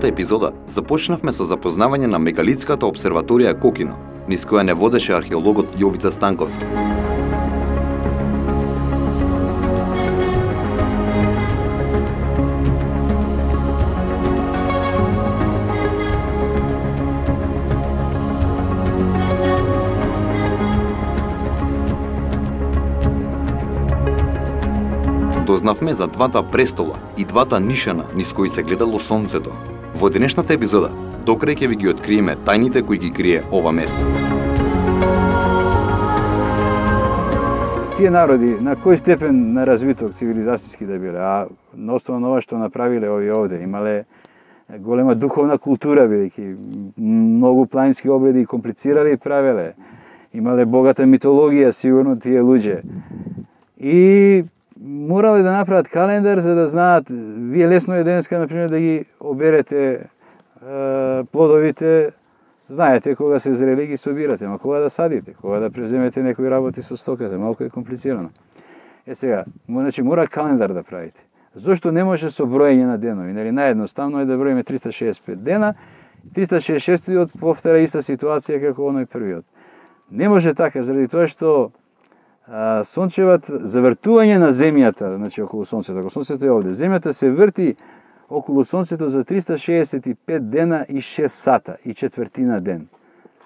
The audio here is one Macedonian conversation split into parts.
минатата епизода започнавме со запознавање на мегалитската обсерваторија Кокино, низ која не водеше археологот Јовица Станковски. Дознавме за двата престола и двата нишана низ кои се гледало сонцето. Во денешната епизода, докрај ќе ви ги откриеме тајните кои ги крие ова место. Тие народи на кој степен на развиток цивилизацијски да биле, а на основа на ова што направиле овие овде, имале голема духовна култура, бидејќи многу планински обреди и комплицирали правеле. Имале богата митологија сигурно тие луѓе. И морале да направат календар за да знаат, вие лесно е денеска, например, да ги оберете плодовите, знаете кога се зрели ги собирате, ама кога да садите, кога да преземете некои работи со стоката, малку е комплицирано. Сега, значи мора календар да правите. Зошто не може со броење на денови? Нели наједноставно е да броиме 365 дена, 366 повтара иста ситуација како оној првиот. Не може така, заради тоа што завртување на земјата, значи околу сонцето, ако сонцето е овде, земјата се врти околу сонцето за 365 дена и 6 сата и четвртина ден.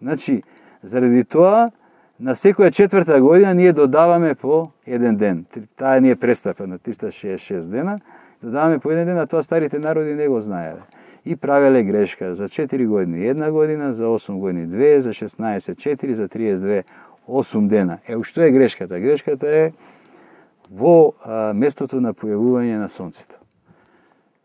Значи, заради тоа, на секоја четврта година ние додаваме по еден ден. Таа ни е престапа на 366 дена, додаваме по еден ден, а тоа старите народи не го знаеле. И правеле грешка за 4 години 1 година, за 8 години 2, за 16 4, за 32 8 дена. Што е грешката? Грешката е во местото на појавување на сонцето.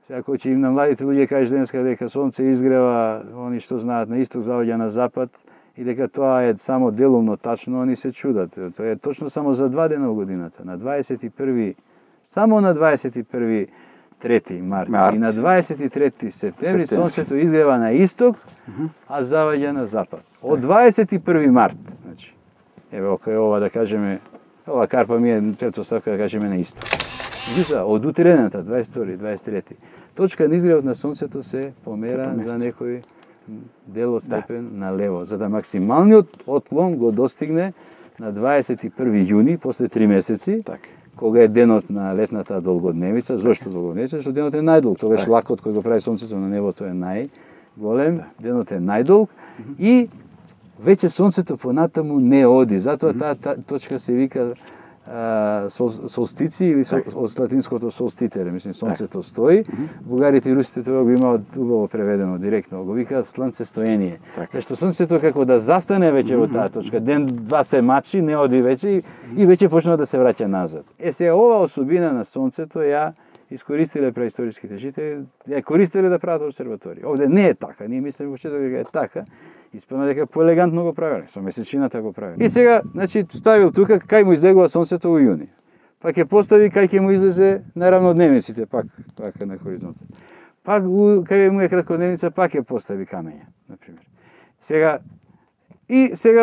Сега, кој ќе им на младите луѓе кажеш денеска дека сонце изгрева, они што знаат на исток заоѓа на запад, и дека тоа е само делумно тачно, они се чудат. Тоа е точно само за 2 дена во годината. На 21. Само на 21. 3. март и на 23. септември сонцето изгрева на исток, а заоѓа на запад. Од 21. март, значи, еве ова да кажеме, ова карпа ми е претпоставка да кажеме на исток. Меѓутоа, од утрената, 22. 23. точка на изгревот на сонцето се помера за некој дел од степен на лево, за да максималниот отклон го достигне на 21. јуни, после 3 месеци, кога е денот на летната долгодневица. Зошто долгодневица? Зашто денот е најдолг. Тогаш лакот кој го прави сонцето на небото е најголем, денот е најдолг и веќе сонцето понатаму не оди. Затоа таа точка се вика солстици или од латинското солститере, мислам сонцето стои. Бугарите и русите тоа го имаат убаво преведено директно, го викаат сланцестоење. Зашто сонцето како да застане веќе во таа точка, ден-два се мачи, не оди веќе и веќе почнува да се враќа назад. Сега ова особина на сонцето ја искористиле преисториските жители, ја користеле да прават обсерваторија. Овде не е така, ние мислиме во почеток дека е така. Испадна дека поелегантно го правеле, со месечината го правеле. И сега, значи, ставил тука кај му излегува сонцето во јуни. Пак ќе постави кај ќе му излезе на равнодневниците, пак на хоризонтот. Пак кај му е краткодневница, пак ќе постави камења, например. Сега,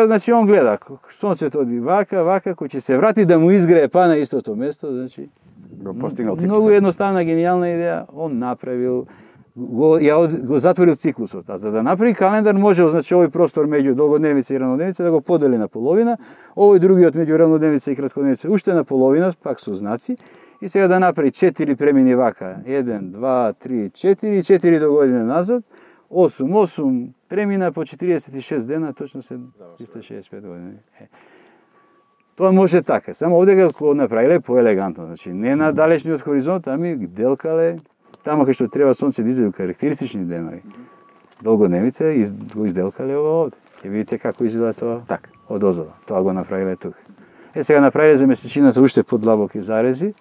значи, он гледа, сонцето оди вака, кој ќе се врати да му изгрее па на истото место, значи, го постигнал циклусот. Многу едноставна, гениална идеја, он направил, го затворил циклусот. А за да направи календар, може, значи, овој простор меѓу долгодневница и равнодневница да го подели на половина, овој другиот меѓу равнодневница и краткодневница уште на половина, пак со знаци, и сега да направи 4 премини вака, 1, 2, 3, 4 до година назад, 8 премина по 46 дена, точно се 365 години. Тоа може така, само овде го направиле поелегантно, значи не на далечниот хоризонт, ами делкале тамо кај што треба сонце да излезе карактеристични денови. Долгодневица го изделкале ова овде. Ќе видите како изгледа тоа од озора. Тоа го направиле тука. Сега направиле за месечината уште подлабоки зарези,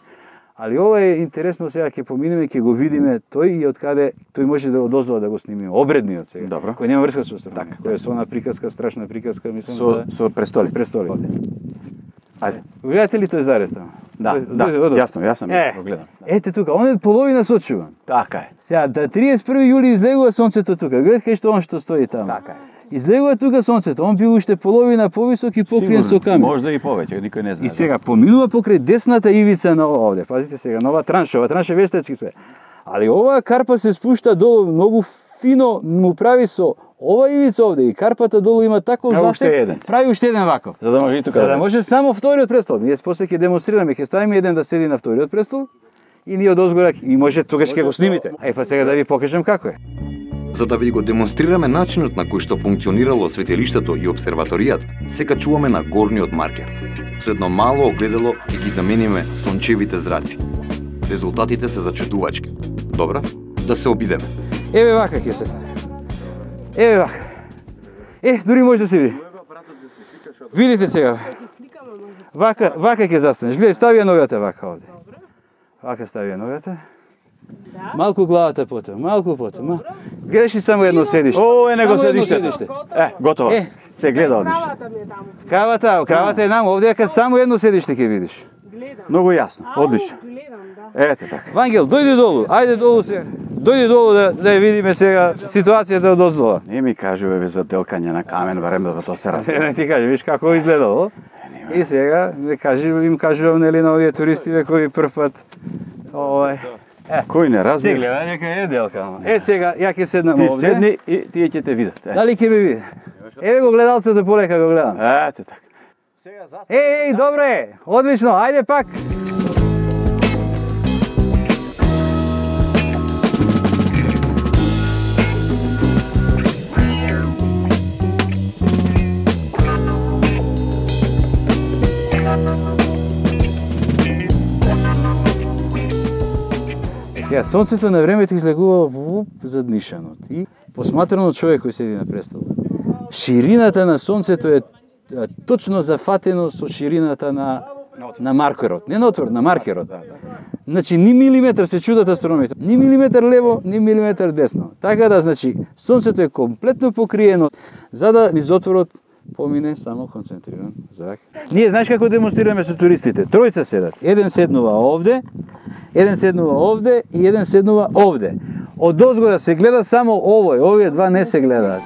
али ова е интересно, сега ќе поминеме, ќе го видиме тој и од каде тој може да одоздава да го снимиме. Обредниот сега, кој нема врска со астрономија. Кој е со она приказка, страшна приказка, мислам со престолите. Ајде. Гледате ли тој зарез таму? Да, јасно го гледам. Ете тука, он е половина сочуван. Така е. Сега, 31. јули излегува сонцето тука. Гледате што он што стои таму. Така е. Излегува тука сонцето, он бил уште половина повисок и покриен со камен. Можда и повеќе, никој не знае. И сега поминува покрај десната ивица на овде. Пазите сега, нова транша вештачки се. Али оваа карпа се спушта долу многу фино му прави со ова ивица овде и карпата долу има таков засек, прави уште еден ваков. За да може и тука. За да може само вториот престол. Ние после ќе демонстрираме, ќе ставиме еден да седи на вториот престол и ние одозгора и може тогаш ќе го снимите. Па сега да ви покажам како е. За да ви го демонстрираме начинот на кој што функционирало светилиштето и обсерваторијата, се качуваме на горниот маркер. Со едно мало огледало ќе ги замениме сончевите зраци. Резултатите се зачудувачки. Добра, да се обидеме. Еве вака ќе се. Еве вака. Дури може да се види. Видите сега. Вака ќе застанеш. Гледај, стави ја ногата вака овде. Вака стави ја ногата. Малку главата потоа, малку потоа. Гледаш ли само едно седиште? О, него седиште. Готово. Се гледа одлично. Кравата е нам, овде е само едно седиште ќе видиш. Многу јасно, одлично. Ето така. Вангел, дојди долу, ајде долу сега. Дојди долу да ја видиме сега ситуацијата од оздола. Не ми кажуве за делкање на камен, барем да тоа се разбере. Не ти кажи, виж како изгледало. И сега им кажувам нели на овие туристиве кои прв пат кој не разбира. Се гледа дека е делка. Сега ја ќе седнам овде. Ти седни и тие ќе те видат. Дали ќе ме види? Еве го гледалцето полека го гледам. Ето така. Добре, одлично, ајде пак. Сега, сонцето на времето излегува заднишано и посматрано од човек кој седи на престол. Ширината на сонцето е точно зафатено со ширината на маркерот. Не на отвор, на маркерот. Значи, ни милиметар се чудат астрономите. Ни милиметар лево, ни милиметар десно. Така да, значи, сонцето е комплетно покриено, за да низ отворот помине само концентриран зрак. Ние знаеш како демонстрираме со туристите? Тројца седат. Еден седнува овде и еден седнува овде. Од озгора се гледа само овој, овие два не се гледаат.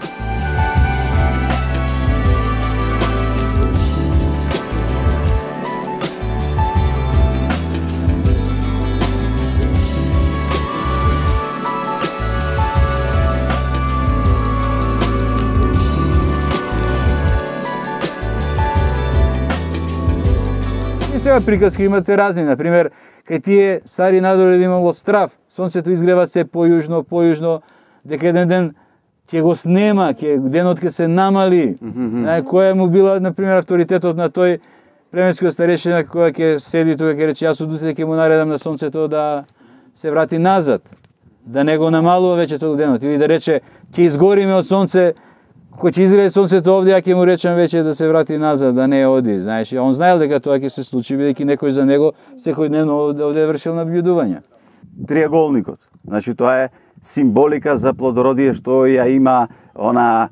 Сега приказки имате разни, например, кај тие стари надори имало страв, сонцето изгрева се појужно, дека еден ден ќе го снема, денот ќе се намали. Која му била, например, авторитетот на тој племенскиот старешина која ќе седи тука, ќе рече, јас од утре ќе му наредам на сонцето да се врати назад, да не го намалува веќе тој денот, или да рече, ќе изгориме од сонце, кој ќе изгрее сонцето овде, ја ќе му речам веќе да се врати назад, да не оди, знаеш. Он знаел дека тоа ќе се случи, бидејќи некој за него секојдневно овде вршил наблюдувања. Триаголникот. Значи тоа е символика за плодородие што ја има она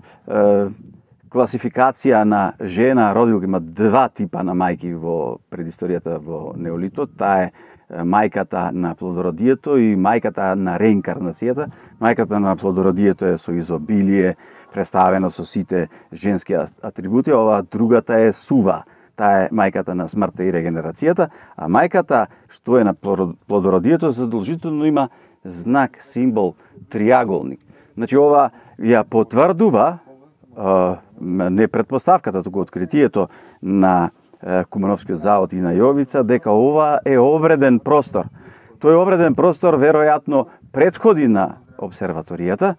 класификација на жена родилка. Има два типа на мајки во предисторијата во неолитот. Таа е мајката на плодородието и мајката на реинкарнацијата. Мајката на плодородието е со изобилие, представена со сите женски атрибути, ова другата е Сува. Таа е мајката на смртта и регенерацијата, а мајката што е на плодородието задолжително има знак, символ, триаголник. Значи ова ја потврдува не предпоставката, туку откритието на Кумановскиот завод и на Јовица, дека ова е обреден простор. Тој обреден простор веројатно претходи на обсерваторијата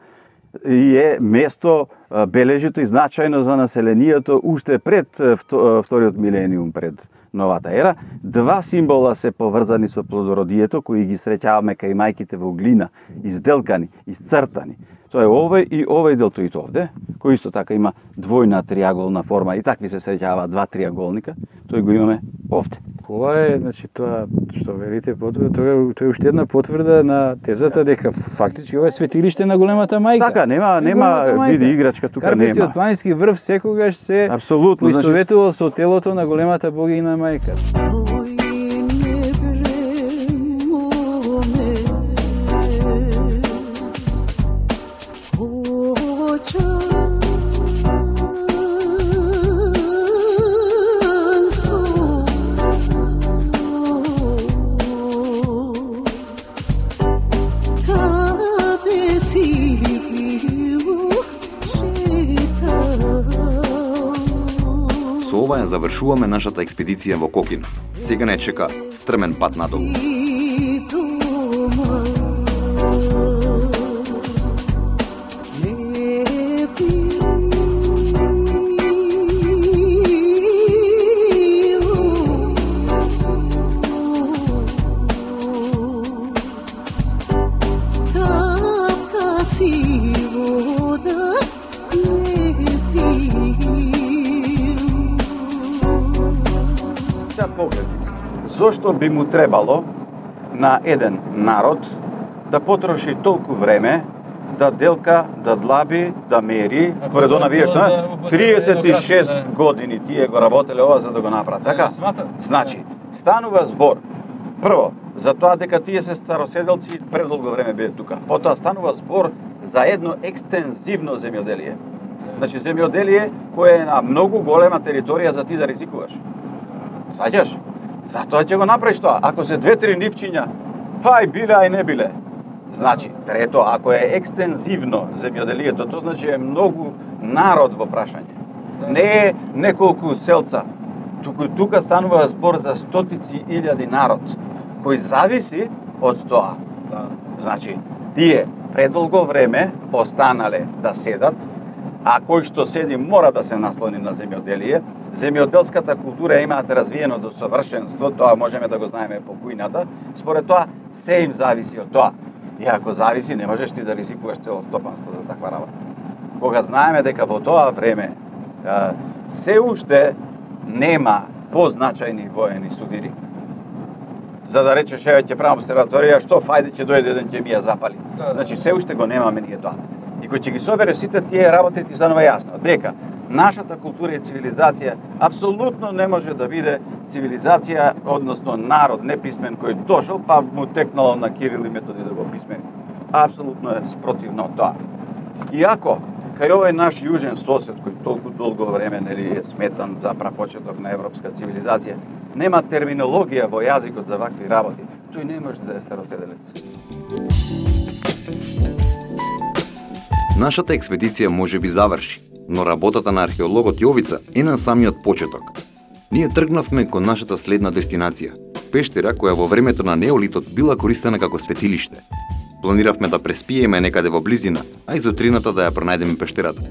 и е место бележито и значајно за населението уште пред вториот милениум, пред новата ера. Два символа се поврзани со плодородието, кои ги среќаваме кај мајките во глина, изделкани, изцртани. Тоа е овој делтоид овде, кој исто така има двојна триаголна форма и такви се среќаваат два триаголника, тој го имаме овде. Ова е, значи, тоа што велите потврда, тоа е уште една потврда на тезата дека фактички ова е светилиште на големата мајка. Така, нема види играчка тука нема. Карпестиот планински врв секогаш се поистоветувал со телото на големата богиня мајка. завршуваме нашата експедиција во Кокина. Сега не чека стрмен пат надолу. Зошто би му требало на еден народ да потроши толку време да делка, да длаби, да мери, според она вие што 36 години тие го работеле ова за да го направат, така? Значи, станува збор прво за тоа дека тие се староседелци предолго време биле тука. Потоа станува збор за едно екстензивно земјоделие. Значи земјоделие кое е на многу голема територија за ти да ризикуваш. Саѓаш? Затоа ќе го направиш тоа. Ако се 2-3 нивчиња, па и биле, а и не биле. Значи, трето, ако е екстензивно земјоделието, тоа значи е многу народ во прашање. Не е неколку селца. Тука станува збор за стотици илјади народ, кој зависи од тоа. Значи, тие предолго време останале да седат, а кој што седи мора да се наслони на земјоделие. Земјоделската култура имаат развиено до совршенство, тоа можеме да го знаеме по кујната. Според тоа, се им зависи од тоа. И ако зависи, не можеш ти да ризикуваш цело стопанство за таква работа. Кога знаеме дека во тоа време се уште нема позначајни воени судири, за да речеш, еве ќе правам обсерваторија, што фајде ќе дојде еден ќе ми ја запали. Значи, се уште го немаме ние тоа. И кој ќе ги собере сите тие работи, ти станува јасно дека нашата култура и цивилизација апсолутно не може да биде цивилизација, односно народ неписмен кој дошол, па му текнало на Кирил и Методи да го писмени. Апсолутно е спротивно од тоа. Иако, кај овој наш јужен сосед, кој толку долго време нели е сметан за прапочеток на европска цивилизација, нема терминологија во јазикот за вакви работи, тој не може да е староседелец. Нашата експедиција може би заврши, но работата на археологот Јовица е на самиот почеток. Ние тргнавме кон нашата следна дестинација, пештера која во времето на неолитот била користена како светилиште. Планиравме да преспиеме некаде во близина, а изутрината да ја пронајдеме пештерата.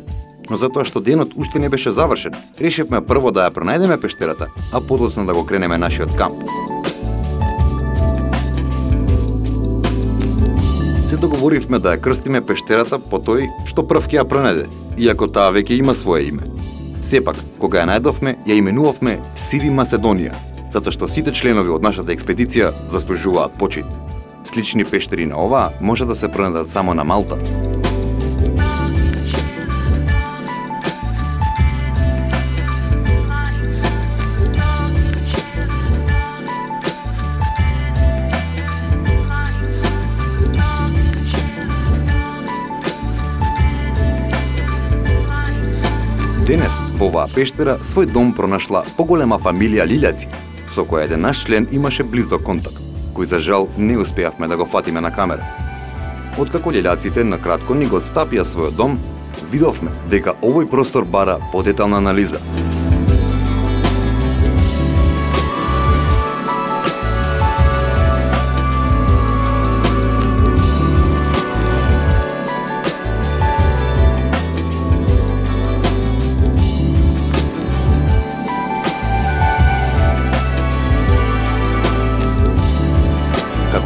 Но затоа што денот уште не беше завршен, решивме прво да ја пронајдеме пештерата, а подоцна да го кренеме нашиот камп. Се договоривме да ја крстиме пештерата по тој што прв ќе ја пронајде, иако таа веќе има свое име. Сепак, кога ја најдовме, ја именувавме Сири Маседонија, затоа што сите членови од нашата експедиција заслужуваат почит. Слични пештери на оваа може да се пронајдат само на Малта. Денес во оваа пештера свој дом пронашла поголема фамилија лилјаци, со која еден наш член имаше близок контакт, кој за жал не успеавме да го фатиме на камера. Откако лилјаците на кратко ни го отстапија својот дом, видовме дека овој простор бара подетална анализа.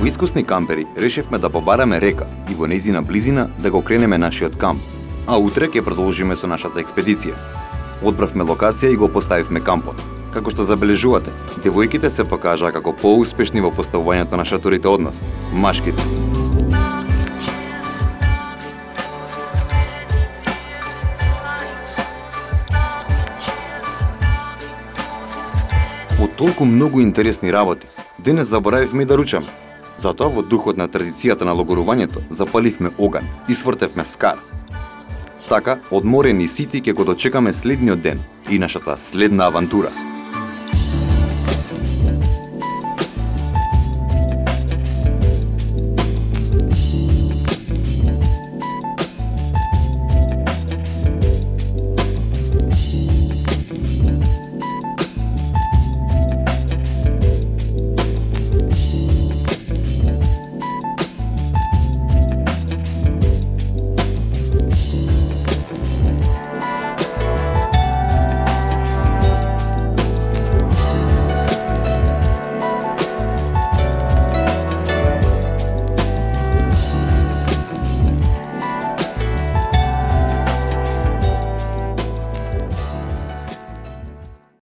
Искусни кампери решивме да побараме река и во нејзина близина да го кренеме нашиот камп, а утре ќе продолжиме со нашата експедиција. Одбравме локација и го поставивме кампот. Како што забележувате, девојките се покажаа како поуспешни во поставувањето на шаторите од нас, машките. Од толку многу интересни работи, денес заборавивме и да ручаме. Затоа во духот на традицијата на логорувањето запаливме оган и свртевме скар. Така, одморени сити ќе го дочекаме следниот ден и нашата следна авантура.